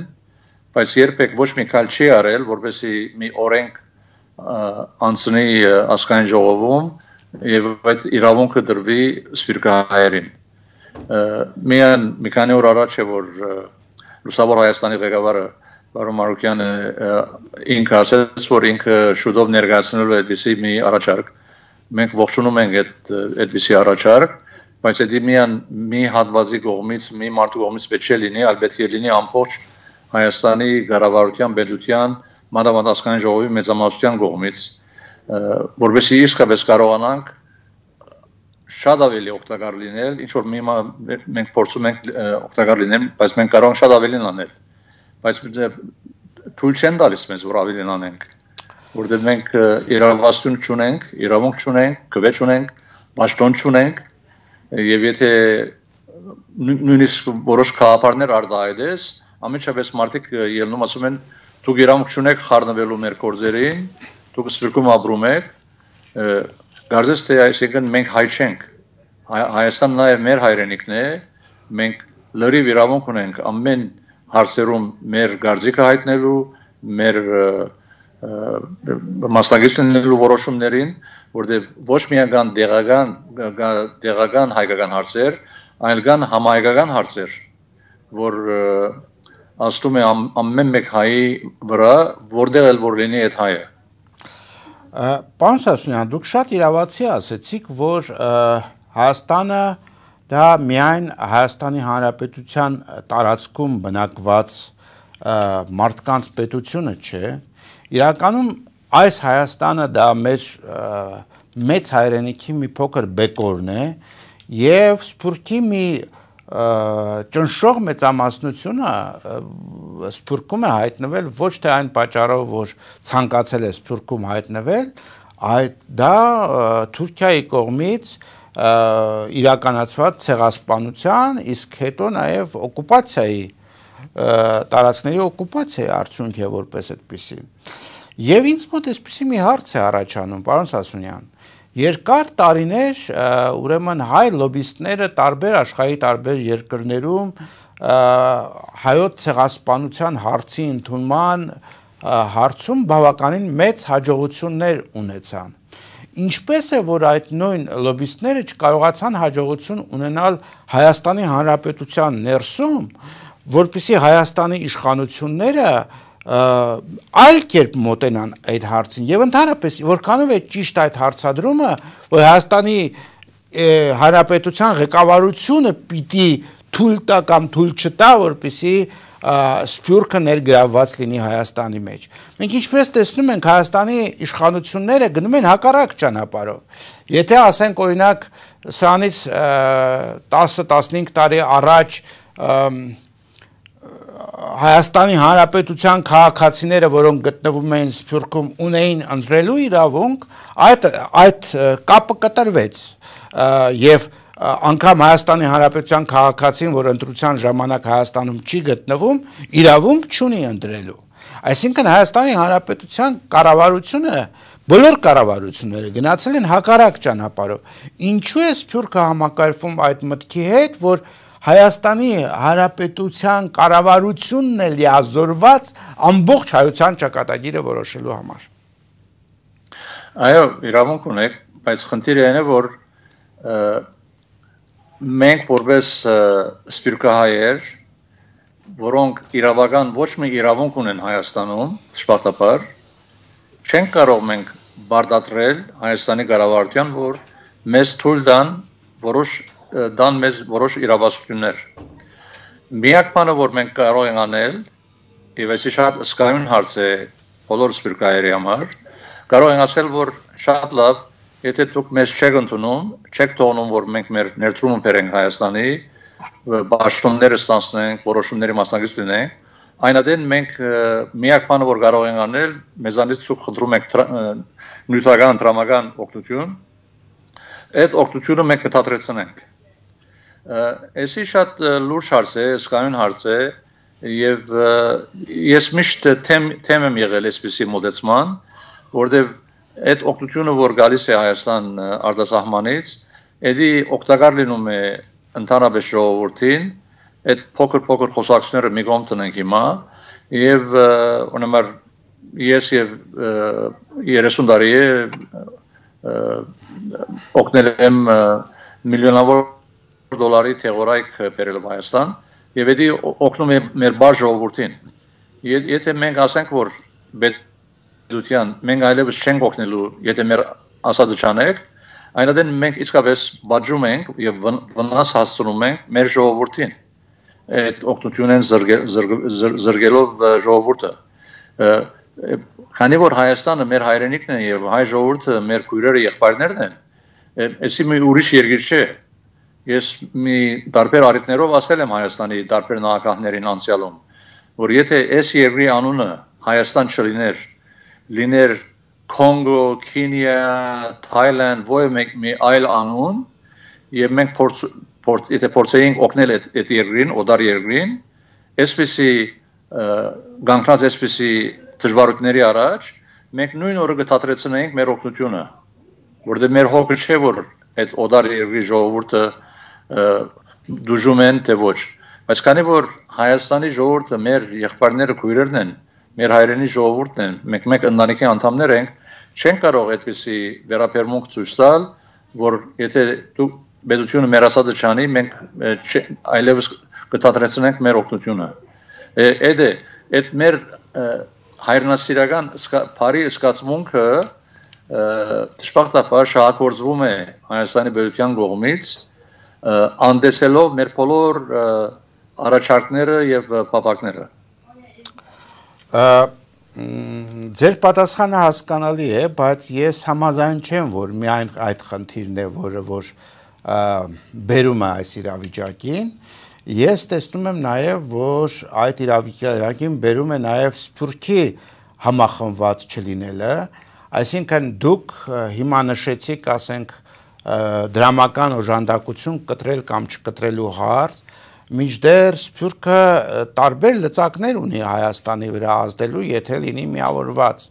բայց երբեք ոչ մի քայլ չի արել, որպեսզի մի օրենք անցնի ազգային ժողովում եւ այդ իրավունքը դրվի Սփյուռքահայերին։ Մի քանի օր առաջ է որ Լուսավոր Հայաստանի ղեկավարը Բարոն Մարուկյանը ինքը ասաց, որ ինքը շուտով ներկայացնելու է այդպիսի մի առաջարկ։ Մենք ողջունում ենք այդպիսի առաջարկ, բայց դա մի հատվածի կողմից, մի մարդու կողմից պետք է լինի, այլ պետք է լինի ամբողջ Հայաստանի կառավարության, պետության, մանավանդ ազգային ժողովի մեծամասնության կողմից, որովհետեւ իսկապես կարողանանք շատ ավելի օգտակար լինել, ինչ որ մենք փորձում ենք օգտակար լինել, բայց մենք կարող ենք շատ ավելին անել, բայց թույլ չեն տալիս մեզ որ ավելին անենք, որովհետեւ մենք իրավասություն չունենք, իրավունք չունենք, քվե չունենք, պաշտոն չունենք, եւ եթե նույնիսկ որոշ քաղաքներ արտահայտես, ամենաշատս մարդիկ ելնում ասում են դուք իրավունք չունեք խառնվելու մեր գործերին, դուք Սփյուռքում ապրում եք, Գարձես թե այսինքն մենք հայ չենք, Հայաստանն նաև մեր հայրենիքն է, մենք լրիվ իրավունք ունենք ամեն հարցերում մեր գարձիկը հայտնելու, մեր մասնագետ լինելու որոշումներին, որտեղ ոչ միայն դեղական հայկական հարցեր, այլ կան համահայկական հարցեր, որ աստում է ամեն մեկ հայի վրա, որտեղ էլ որ լինի այդ հայը։ Պարոն Սասունյան, դուք շատ իրավացի ասեցիք, որ Հայաստանը դա միայն Հայաստանի Հանրապետության տարածքում բնակված մարդկանց պետությունը չէ, իրականում այս Հայաստանը դա մեծ հայրենիքի մի փոքր բեկորն է եւ Սփյուռքի մի ճնշող մեծամասնությունը Սփյուռքում է հայտնվել ոչ թե այն պատճառով, որ ցանկացել է Սփյուռքում հայտնվել, դա Թուրքիայի կողմից իրականացված ցեղասպանության, իսկ հետո նաև օկուպացիայի տարածքների օկուպացիայի արդյունք է որպես այդպիսի։ Եվ ինձ մոտ այսպիսի մի հարց է առաջանում, պարոն Սասունյան, երկար տարիներ ուրեմն հայ լոբիստները տարբեր աշխարհի տարբեր երկրներում հայոց ցեղասպանության հարցի ընդունման հարցում բավականին մեծ հաջողություններ ունեցան։ Ինչպես է, որ այդ նույն լոբիստները չկարողացան հաջողություն ունենալ Հայաստանի Հանրապետության ներսում, որպեսզի Հայաստանի իշխանությունները այլ կերպ մոտենան այդ հարցին եւ ընդհանրապես որքանով է ճիշտ այդ հարցադրումը, որ Հայաստանի Հանրապետության ղեկավարությունը պիտի թույլ տա կամ թույլ չտա, որպեսզի Սփյուռքը ներգրավված լինի Հայաստանի մեջ։ Մենք ինչպես տեսնում ենք, Հայաստանի իշխանությունները գնում են հակառակ ճանապարհով։ Եթե ասենք օրինակ սրանից 10-15 տարի առաջ Հայաստանի Հանրապետության քաղաքացիները, որոնք գտնվում էին Սփյուռքում, ունեին ընտրելու իրավունք, այդ կապը կտրվեց եւ անգամ Հայաստանի Հանրապետության քաղաքացին, որ ընտրության ժամանակ Հայաստանում չի գտնվում, իրավունք չունի ընտրելու։ Այսինքն Հայաստանի Հանրապետության կառավարությունը, բոլոր կառավարությունները գնացել են հակառակ ճանապարհով։ Ինչու է Սփյուռքը համակարգվում այդ մտքի հետ, որ Հայաստանի Հանրապետության կառավարությունն է լիազորված ամբողջ հայության ճակատագիրը որոշելու համար։ Այո, իրավունք ունեք, բայց խնդիրը այն է, որ մենք որպես սփյուռքահայեր, որոնք իրավական ոչ մի իրավունք ունեն Հայաստանում, դժբախտաբար, չենք կարող մենք բարդատրել Հայաստանի կառավարության, որ մեզ թույլ տան մեզ որոշ իրավասություններ։ Միակ բանը, որ մենք կարող ենք անել, եւ այսի շատ սկայուն հարց է բոլոր սփյուռքահայերի համար, կարող ենք ասել, որ շատ լավ, եթե դուք մեզ չեք ընդունում, չեք թողնում, որ մենք մեր ներդրումը բերենք Հայաստանի, պաշտոնները ստանցնենք, որոշումների մասնակից լինենք, այնադեն մենք միակ բանը, որ կարող ենք անել, մեզանից դուք խնդրում եք նյութական, տրամական օգնություն, այդ օգնությունը մենք կթատրեցնենք։ Էսի շատ լուրջ հարց է, սկայուն հարց է, եւ ես միշտ թեմ եմ եղել այսպիսի մոտեցման, որտեղ այդ օգնությունը, որ գալիս է Հայաստան արտասահմանից, էդի օգտակար լինում է ընդհանրապես ժողովրդին, այդ փոքր խոսակցությունները մի կողմ տնենք հիմա, եւ օրինակ ես եւ 30 տարի է օգնել եմ միլիոնավոր դոլարի թեղորայք բերելով Հայաստան եւ էդի օգնում է մեր բար ժողովրդին։ Եթե մենք ասենք, որ պետության մենք այլևս չենք օգնելու, եթե մեր ասածը չանենք, այնադեն մենք իսկապես բաժում ենք եւ վնաս հասցնում ենք մեր ժողովրդին։ Այդ օգնությունն զրկելով ժողովուրդը։ Քանի որ Հայաստանը մեր հայրենիքն է եւ հայ ժողովուրդը մեր քույրերը եղբայրներն են, այսի մի ուրիշ երկիր չէ։ Ես մի տարբեր առիթներով ասել եմ Հայաստանի տարբեր նախագահներին անցյալում, որ եթե այս երկրի անունը Հայաստան չլիներ, լիներ Կոնգո, Քենիա, Թայլանդ, ոչ մի այլ անուն, եւ մենք եթե փորձեինք օգնել այդ երկրին, օտար երկրին, այսպիսի գանքնած այսպիսի դժվարությունների առաջ, մենք նույն օրը կթատրեցնեինք մեր օգնությունը, որտեղ մեր հոգը չէ, որ այդ օտար երկրի ժողովուրդը դժում են թե ոչ, բայց քանի որ Հայաստանի ժողովուրդը մեր եղբայրները քույրերն են, մեր հայրենի ժողովուրդն են, մենք մեկ ընտանիքի անդամներ ենք, չեն կարող այդպիսի վերաբերմունք ցույց տալ, որ եթե դու պետությունը մեր ասածը չանի, մենք այլևս կթատրեցնենք մեր օգնությունը։ Այդ մեր հայրենասիրական բարի զգացմունքը դժբախտաբար շահագործվում է Հայաստանի պետության կողմից, անդեսելով մեր բոլոր առաջարկները եւ պապակները։ Ձեր պատասխանը հասկանալի է, բայց ես համաձայն չեմ, որ միայն այդ խնդիրն է, որը որ բերում է այս իրավիճակին, Ես տեսնում եմ նաև, որ այդ իրավիճակին բերում է նաև Սփյուռքի համախմբված չլինելը, այսինքն դուք հիմա նշեցիք, ասենք, դրամական օժանդակություն կտրել կամ չկտրելու հարց, մինչդեռ Սփյուռքը տարբեր լծակներ ունի Հայաստանի վրա ազդելու, եթե լինի միավորված։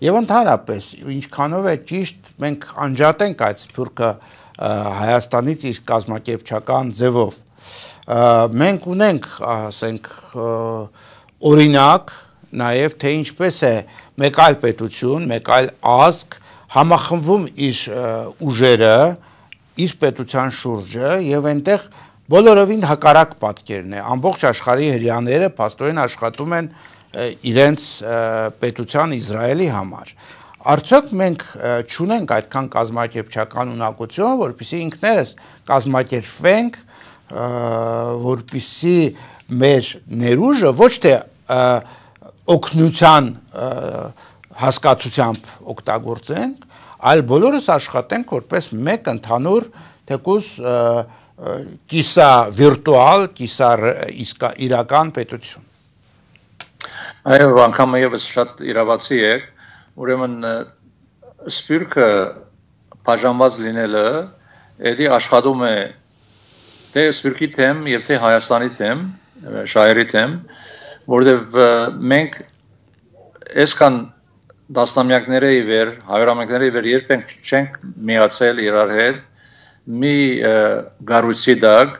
Եվ ընդհանրապես, ինչքանով է ճիշտ, մենք անջատենք այդ Սփյուռքը Հայաստանից իր կազմակերպչական ձևով։ Մենք ունենք, ասենք, օրինակ, նաև թե ինչպես է մեկ այլ պետություն, մեկ այլ ազգ համախմբվում իր ուժերը, իր պետության շուրջը եւ այնտեղ բոլորովին հակառակ պատկերն է, ամբողջ աշխարհի հրյաները փաստորեն աշխատում են իրենց պետության Իսրայելի համար։ Արդյոք մենք չունենք այդքան կազմակերպչական ունակություն, որպեսզի ինքներս կազմակերպվենք, որպեսզի մեր ներուժը ոչ թե օգնության հասկացությամբ օգտագործենք, այլ բոլորս աշխատենք որպես մեկ ընդհանուր թեկուզ կիսա վիրտուալ, կիսա իրական պետություն։ Այո, անգամ եւս շատ իրավացի է, ուրեմն Սփյուռքը բաժանված լինելը, դա աշխատում է թե Սփյուռքի թեմ եւ թե Հայաստանի թեմ, շահերի թեմ, որտեւ մենք այսքան դասնամյակների վեր, հարյուրամյակների վեր երբեք չենք միացել իրար հետ, մի գառույցի դակ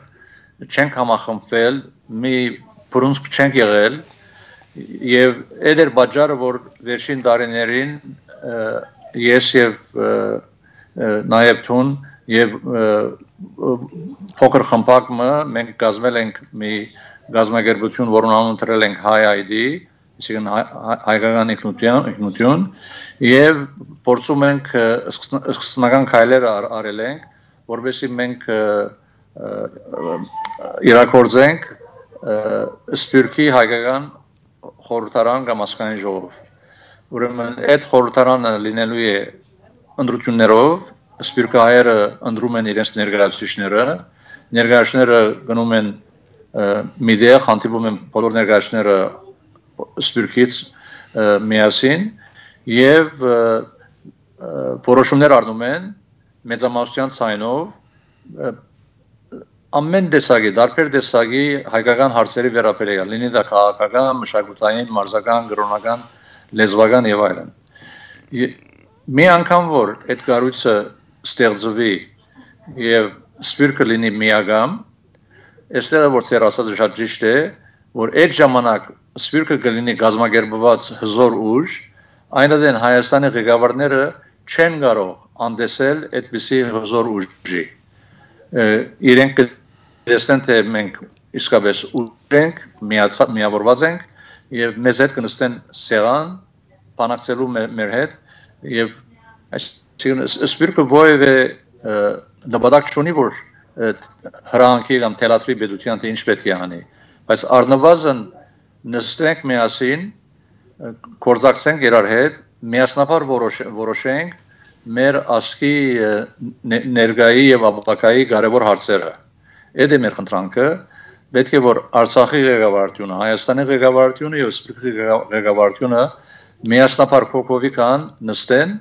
չենք համախմբվել, մի բռունցք չենք եղել, եւ այդ էր պատճառը, որ վերջին տարիներին ես եւ նաեւ թուն եւ փոքր խմբակը մենք կազմել ենք մի գազագերբություն, որոնց անուն դրել ենք HiID, այսինքն հայկական ինքնություն, եւ փորձում ենք սկզբնական քայլեր արել ենք, որովհետեւ մենք իրակորձենք Սփյուռքի հայկական խորհրդարան կամ ազգային ժողով։ Ուրեմն այդ խորհրդարանը լինելու է ընտրություններով, Սփյուռքի հայերը ընտրում են իրենց ներկայացուցիչները գնում են մի տեղ, հանդիպում են բոլոր ներկայացուցիչները Սփյուռքից միասին եւ որոշումներ առնում են մեծամասնության ցայնով ամեն տեսակի, դարբեր տեսակի հայկական հարցերի վերաբերյալ, լինի դա քաղաքական, մշակութային, մարզական, կրոնական, լեզվական եւ այլն։ Մի անգամ որ այդ կառույցը ստեղծվի եւ Սփյուռքը լինի միագամ, այստեղ որ ծեր ասածը շատ ճիշտ է, որ այդ ժամանակ Սփյուռքը կլինի գազագերբված հզոր ուժ, այնուհետև Հայաստանի ղեկավարները չեն կարող անդեսել այդպիսի հզոր ուժի։ Իրենք կտեսնեն, թե մենք իսկապես ուժ ենք, միավորված ենք եւ մեզ հետ կնստեն սեղան, բանակցելու մեր հետ եւ այսինքն Սփյուռքը որևէ նպատակ չունի, որ հրանքի կամ թելադրի պետության թե ինչ պետք է անի, բայց առնվազն նստենք միասին, կորձակցենք իրար հետ, միասնաբար որոշենք մեր ազգի ներկայի եւ ապագայի կարևոր հարցերը։ Այդ է մեր խնդրանքը, պետք է որ Արցախի ղեկավարությունը, Հայաստանի ղեկավարությունը եւ Սփյուռքի ղեկավարությունը միասնաբար փոխովիկան նստեն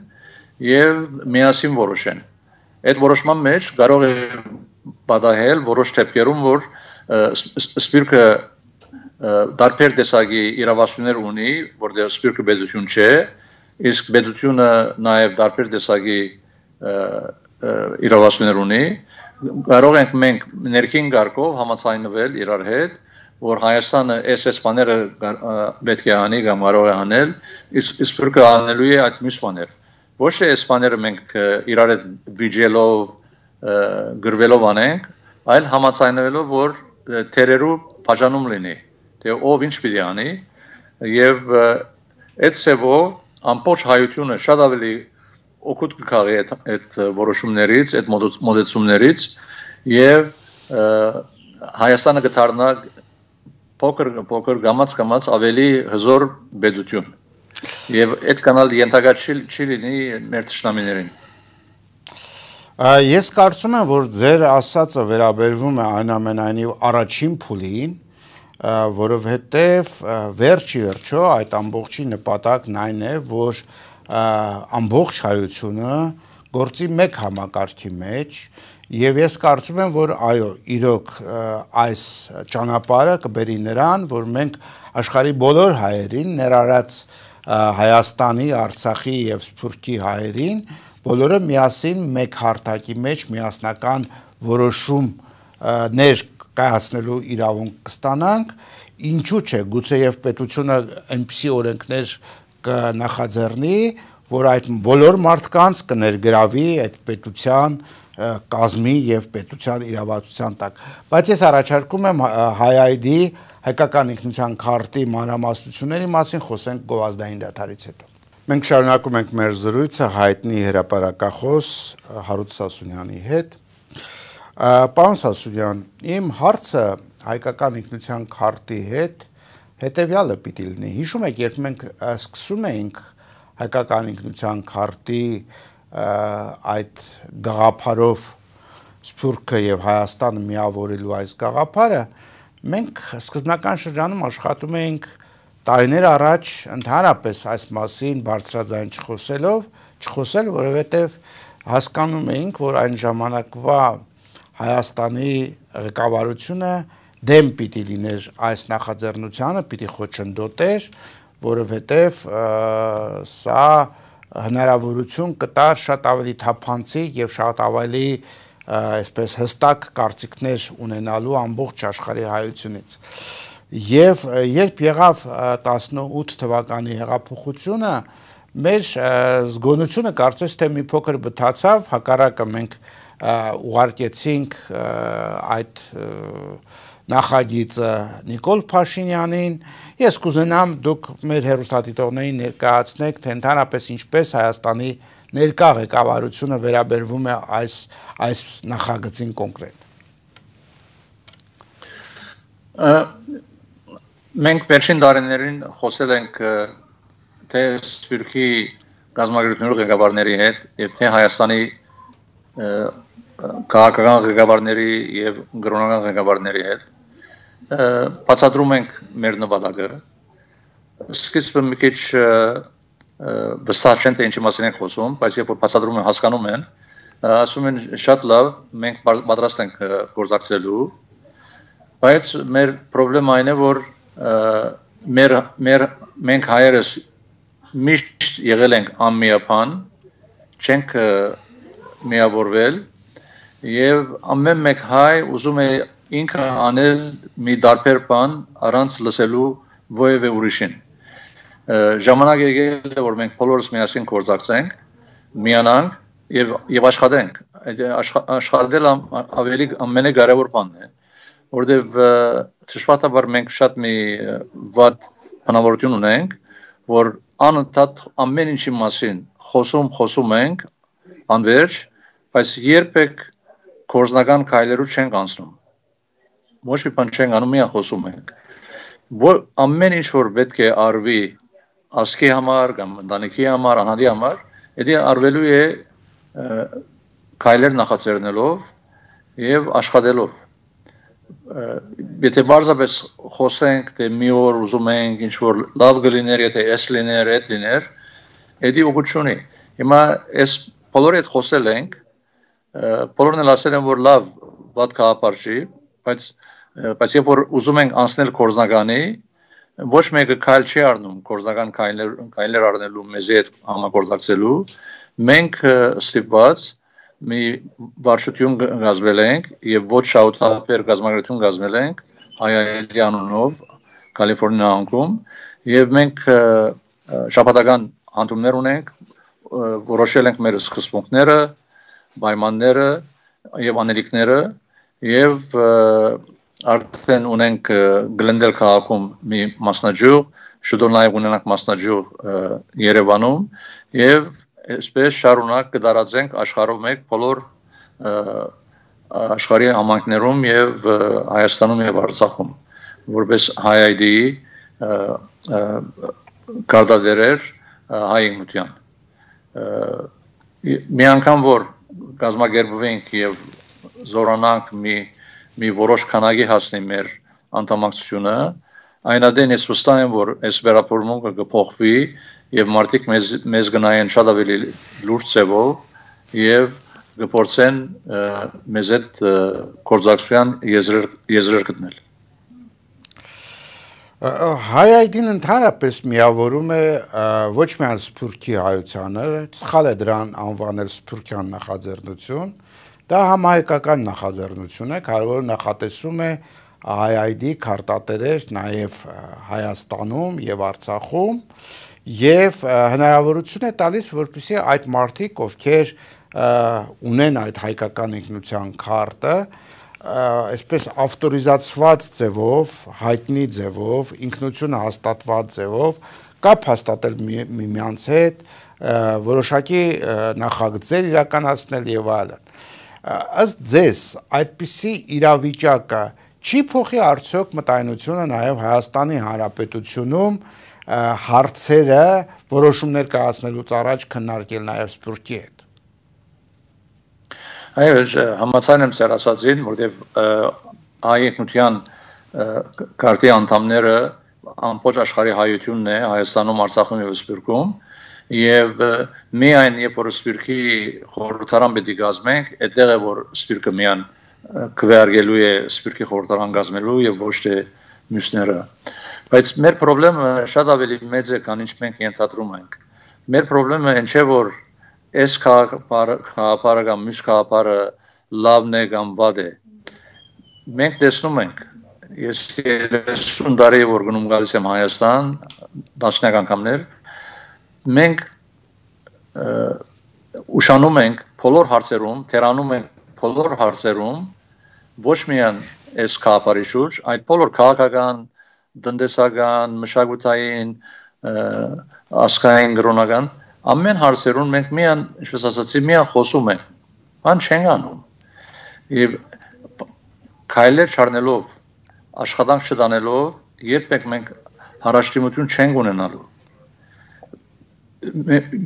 եւ միասին որոշեն։ Այդ որոշման մեջ կարող է պատահել որոշ դեպքերում, որ Սփյուռքը դարբեր տեսակի իրավասություններ ունի, որտեղ Սփյուռքը պետություն չէ, իսկ պետությունը նաև դարբեր տեսակի իրավասություններ ունի, կարող ենք մենք ներքին կարգով համաձայնվել իրար հետ, որ Հայաստանը այս բաները պետք է անի կամ կարող է անել, իսկ Սփյուռքը անելու է այդ մյուս բաներ։ Ոչ թե այս բաները մենք իրար հետ վիճելով, գրվելով անենք, այլ համաձայնվելով, որ թերերու բաժանում լինի, թե ով ինչ պիտի անի, եւ այդ ծևով ամբողջ հայությունը շատ ավելի օգուտ կգաղի այդ որոշումներից, այդ մոտեցումներից եւ Հայաստանը կդառնա փոքր գամած ավելի հզոր պետություն եւ այդ կանալ ենթակա չի լինի մեր ճշտամիներին։ Ես կարծում եմ, որ ձեր ասածը վերաբերվում է այնուամենայնիվ առաջին փուլին, որովհետև վերջի վերջո այդ ամբողջի նպատակն այն է, որ ամբողջ հայությունը գործի մեկ համակարգի մեջ, եւ ես կարծում եմ, որ այո, իրոք այս ճանապարհը կբերի նրան, որ մենք աշխարհի բոլոր հայերին, ներառած Հայաստանի, Արցախի եւ Սփյուռքի հայերին, բոլորը միասին մեկ հարթակի մեջ միասնական որոշումներ կայացնելու իրավունք կստանանք, ինչու՞ չէ, գուցե եւ պետությունը այնպիսի օրենքներ կնախաձեռնի, որ այդ բոլոր մարդկանց կներգրավի այդ պետության կազմի եւ պետության իրավացության տակ, բայց ես առաջարկում եմ հայ-ID հայկական ինքնության քարտի մանրամասնությունների մասին խոսենք գովազդային դադարից հետո։ Մենք շարունակում ենք մեր զրույցը հայտնի հրապարակախոս Հարութ Սասունյանի հետ։ Պարոն Սասունյան, իմ հարցը հայկական ինքնության քարտի հետ հետեւյալը պիտի լինի։ Հիշում եք, երբ մենք սկսում էինք հայկական ինքնության քարտի այդ գաղափարով Սփյուռքը եւ Հայաստանը միավորելու այս գաղափարը, մենք սկզբնական շրջանում աշխատում էինք տարիներ առաջ ընդհանրապես այս մասին բարձրաձայն չխոսել, որովհետեւ հասկանում էինք, որ այն ժամանակվա Հայաստանի ղեկավարությունը դեմ պիտի լիներ այս նախաձեռնությանը, պիտի խոչընդոտեր, որովհետեւ սա հնարավորություն կտար շատ ավելի թափանցիկ եւ շատ ավելի այսպես հստակ կարծիքներ ունենալու ամբողջ աշխարհի հայությունից։ Եվ երբ եղավ 18 թվականի հեղափոխությունը, մեր զգոնությունը կարծես թե մի փոքր բթացավ, հակառակը մենք ուղարկեցինք այդ նախագիծը Նիկոլ Փաշինյանին։ Ես կուզենամ դուք մեր հեռուստադիտողներին ներկայացնեք, թե ընդհանրապես ինչպես Հայաստանի ներկա ղեկավարությունը վերաբերվում է այս նախագծին կոնկրետ։ Մենք վերջին տարիներին խոսել ենք թե Սփյուռքի գազագերությունների ղեկավարների հետ եւ թե Հայաստանի քաղաքական ղեկավարների եւ գրոնական ղեկավարների հետ բացատրում ենք մեր նպատակը։ Սկիզբը մի քիչ վստահ չեն թե ինչի մասին ենք խոսում, բայց երբ որ բացատրում են, հասկանում են, ասում են շատ լավ, մենք պատրաստ ենք գործակցելու, բայց մեր խնդրեմը այն է, որ մենք հայերս միշտ եղել ենք անմիապան, չենք միավորվել եւ ամեն մեկ հայ ուզում է ինքը անել մի դարբեր բան առանց լսելու որևէ ուրիշին։ Ժամանակ եկել է, որ մենք բոլորս միասին գործակցենք, միանանք եւ աշխատենք։ Աշխատել ավելի ամենակարևոր բանն է, որովհետեւ ճշմարտաբար մենք շատ մի վատ բնավորություն ունենք, որ անընդհատ ամեն ինչի մասին խոսում ենք, անverջ, բայց երբեք գործնական քայլերու չենք անցնում։ Ոչ մի բան չենք անում, միայն խոսում ենք։ Որ ամեն ինչ որ պետք է արվի ասկի համար, կամ ընտանիքի համար, անհատի համար, դա արվելու է քայլեր նախաձեռնելով եւ աշխատելով։ Եթե բարձրապես խոսենք, թե մի օր ուզում ենք ինչ որ լավ կլիներ, եթե էս լիներ, այդ լիներ, դա ուղղություն ունի։ Հիմա այս բոլորի հետ խոսել ենք, բոլորն էլ ասել են, որ լավ, վատ գաղափար չի, բայց երբ որ ուզում ենք անցնել գործնականի, ոչ մեկը քայլ չի առնում գործնական քայլեր առնելու մեզի հետ համագործակցելու, մենք ստիպված մի վարչություն գազվել ենք եւ ոչ շահութաբեր գազագերություն գազվել ենք հայերի անունով Կալիֆոռնիա անկում եւ մենք շաբաթական հանդիպումներ ունենք, որոշել ենք մեր սկզբունքները, պայմանները եւ անելիքները եւ արդեն ունենք Գլենդել քաղաքում մի մասնաճյուղ, շուտով նաև ունենանք մասնաճյուղ Երևանում եւ այսպես շարունակ կդարածենք աշխարհով մեկ բոլոր աշխարհի համայնքներում եւ Հայաստանում եւ Արցախում, որպես հայ-ID-ի կարտադերեր հայ ինքնության։ Մի անգամ որ գազմագերբվենք եւ զորանանք մի որոշ քանակի հասնի մեր անդամակցությունը, այնադեն ես վստահ եմ, որ այս վերապրումը կփոխվի եւ մարդիկ մեզ գնային շատ ավելի լուրջ ձևով եւ կփորձեն մեզ այդ կորզակցության եզրեր գտնել։ Հայ-այդին ընդհանրապես միավորում է ոչ միայն սփյուռքի հայությանը, սխալ է դրան անվանել սփյուռքյան նախաձեռնություն, դա համահայկական նախաձեռնություն է, կարևոր նախատեսում է հայ-այդի քարտատերեր նաև Հայաստանում եւ Արցախում եւ հնարավորություն է տալիս, որպեսզի այդ մարդիկ, ովքեր ունեն այդ հայկական ինքնության քարտը, այսպես ավտորիզացված ձևով, հայտնի ձևով, ինքնությունը հաստատված ձևով կապ հաստատել միմյանց հետ, որոշակի նախագծեր իրականացնել եւ այլն։ Ըստ ձեզ, այդպիսի իրավիճակը չի փոխի արդյոք մտայնությունը նաեւ Հայաստանի Հանրապետությունում հարցերը որոշումներ կայացնելուց առաջ քննարկել նաեւ սփյուռքի հետ։ Այո, համաձայն եմ ձեր ասածին, որտեղ հայ ինքնության քարտի անդամները ամբողջ աշխարհի հայությունն է Հայաստանում, Արցախում եւ Սփյուռքում, եւ միայն երբ որ Սփյուռքի խորհրդարան պետք է գազմենք, այդտեղ է որ Սփյուռքը միայն քվեարկելու է Սփյուռքի խորհրդարան գազմելու եւ ոչ թե մյուսները։ Բայց մեր խնդրը շատ ավելի մեծ է, քան ինչ մենք ենթադրում ենք։ Մեր խնդրը այն չէ, որ այս քաղաքապարը կամ մյուս քաղաքապարը լավն է կամ վատ է։ Մենք տեսնում ենք, ես 30 տարի որ գնում գալիս եմ Հայաստան, տասնյակ անգամներ, մենք ուշանում ենք բոլոր հարցերում, թերանում ենք բոլոր հարցերում, ոչ միայն այս քաղաքապարի շուրջ, այլ բոլոր քաղաքական, տնտեսական, մշակութային, ազգային, կրոնական ամեն հարցերում մենք միայն, ինչպես ասացի, միայն խոսում ենք, բան չենք անում։ Եվ քայլեր չառնելով, աշխատանք չտանելով, երբեք մենք հարաշտիմություն չենք ունենալու։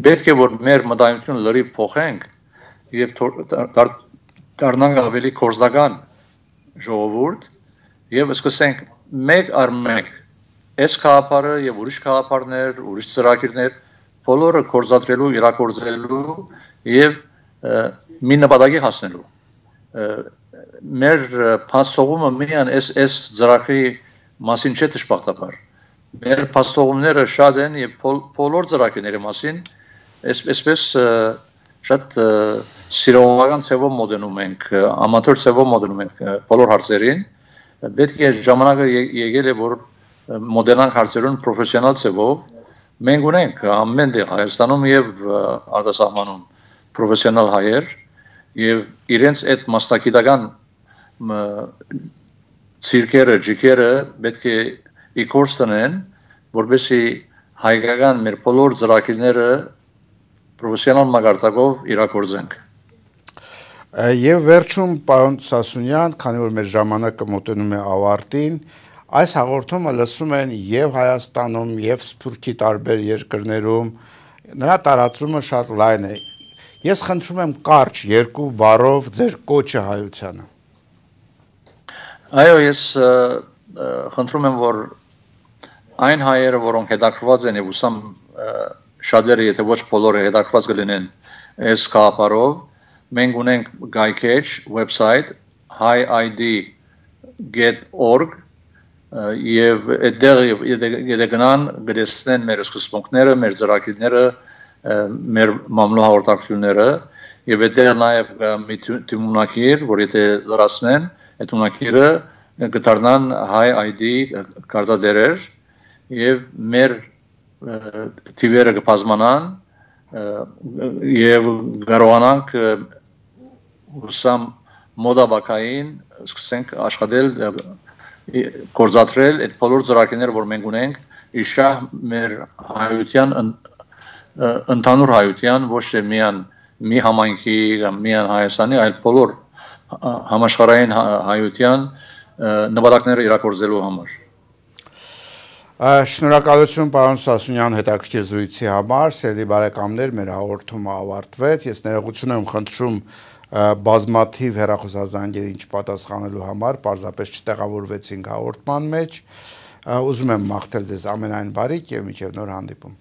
Պետք է որ մեր մտայնությունը լրիվ փոխենք եւ դառնանք ավելի կորզական ժողովուրդ եւ սկսենք մեկ առ մեկ այս քաղաքապարը եւ ուրիշ քաղաքապարներ, ուրիշ ծրագիրներ բոլորը կորզադրելու, իրագործելու եւ մի նպատակի հասնելու։ Մեր փաստողումը միայն այս ծրագրի մասին չէ դժբախտաբար։ Մեր փաստողումները շատ են եւ բոլոր ծրագրերի մասին այսպես շատ սիրողական ցևով մոդենում ենք, ամատոր ցևով մոդենում ենք բոլոր հարցերին։ Պետք է ժամանակը եկել է որ մոդելանք հարցերուն պրոֆեսիոնալ ցևով մենք ունենք ամեն տեղ Հայաստանում եւ արտասահմանում պրոֆեսիոնալ հայեր եւ իրենց այդ մասնագիտական ցիրկերը, ջիկերը պետք է իքորս տնեն, որովհետեւ հայկական մեր բոլոր ծրագիրները պրոֆեսիոնալ մակարդակով իրագործենք։ Եվ վերջում պարոն Սասունյան, քանի որ մեր ժամանակը մոտենում է ավարտին, այս հաղորդումը լսում են եւ Հայաստանում, եւ Սփյուռքի տարբեր երկրներում, նրա տարածումը շատ լայն է։ Ես խնդրում եմ կարճ երկու բառով ձեր կոչը հայությանը։ Այո, ես խնդրում եմ, որ այն հայերը, որոնք հետաքրված են եւ ուսամ շատերը, եթե ոչ բոլորը հետաքրված կլինեն այս քաղաքապարով, մենք ունենք գայքեջ, website highid.org եւ այդտեղ եթե գնան գտեսնեն մեր սկզբունքները, մեր ծրագիրները, մեր մամլո հաղորդակցությունները եւ այդտեղ նաեւ մի թիմունակիր, որ եթե լրացնեն, այդ ունակիրը կդառնան HighID կարտադերեր եւ մեր թիվերը կբազմանան եւ կարողանանք ուսամ մոդաբակային սկսենք աշխատել կորզատրել այդ բոլոր ծրագիրները, որ մենք ունենք, իշահ մեր հայության ընդհանուր հայության, ոչ թե միայն մի համայնքի կամ միայն Հայաստանի, այլ բոլոր համաշխարհային հայության նպատակները իրագործելու համար։ Շնորհակալություն պարոն Սասունյան հետաքրքիր զրույցի համար, սիրելի բարեկամներ, մեր հաղորդումը ավարտվեց, ես ներողություն եմ խնդրում բազմաթիվ հեռախոսազանգերին չպատասխանելու համար, պարզապես չտեղավորվեցինք հաղորդման մեջ, ուզում եմ մաղթել ձեզ ամենայն բարիք և մինչև նոր հանդիպում։